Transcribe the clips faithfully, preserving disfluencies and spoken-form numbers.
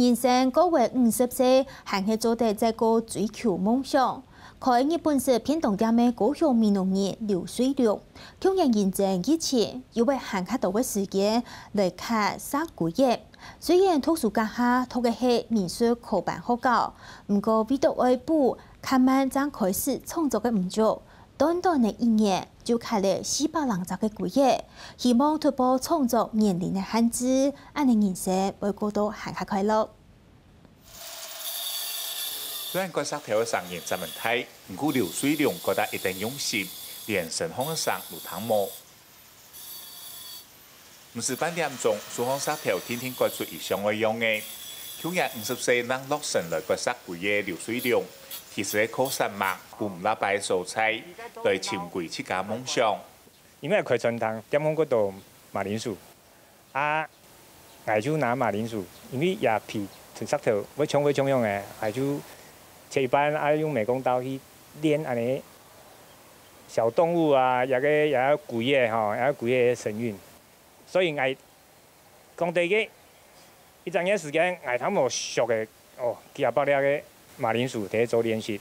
人生過完五十歲，還係做得再過追求夢想。開日本式便當店个高雄美濃人劉瑞龍，舊年因爭疫情，有會閒較多个時間來刻石龜仔。雖然讀書該下讀个係美術科班學校，毋過為著愛補較慢正開始創作个五組，短短个一年就刻了四百零隻个龜仔，希望突破創作年齡个限制，恁呢人生會過到還較快樂。雖然割石頭个聲音真大，毋過劉瑞龍割到一等用心，連身項个聲都聽無。毋使半點鐘，手項石頭定定割出一像个樣仔。舊年五十歲正落成來割石龜个劉瑞龍，其實係靠煞猛，分毋罅擺个所在，來尋歸自家夢想。因為開餐廳，店項過多馬鈴薯，啊，𠊎就拿馬鈴薯，因為這皮同石頭會像會像樣个，𠊎就切一半，啊，用美工刀去練恁呢小動物啊，這个這个龜仔吼，這个龜仔个神韻。所以𠊎講第一个，一隻月時間，𠊎差不多削个哦，幾下百粒个馬鈴薯在做練習。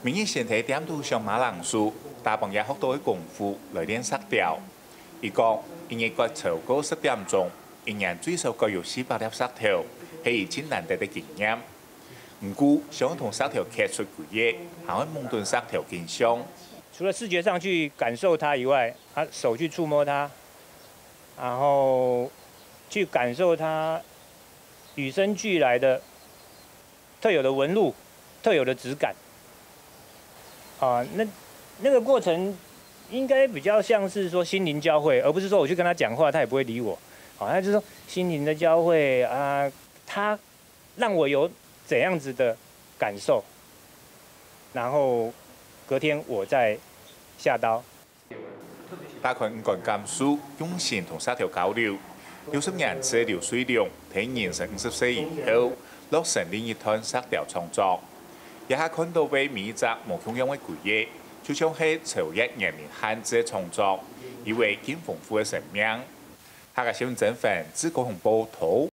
每日先在店肚削馬鈴薯，打幫這學到个功夫來練石雕。佢講，一日割超過十點鐘，一年最少割有四百粒石頭，係佢盡難得个經驗。毋過，想同石頭刻出龜仔，還愛摸等石頭緊想。除了視覺上去感受它以外，啊，手去觸摸它，然後去感受它與生俱來的特有的紋路、特有的質感。啊，那那個過程應該比較像是說心靈交匯，而不是說我去跟他講話，他也不會理我。好，那就是說心靈的交匯啊，他讓我有怎樣子的感受，然後隔天我再下刀。打開五官感受，用心同石頭交流。六十年次个劉瑞龍，在人生五十歲以後，落成另一段石雕創作。這下看到个每一隻無共樣个龜仔，就像係超越年齡限制个創作，有个更豐富个生命。客家新聞曾凡，自高雄報導。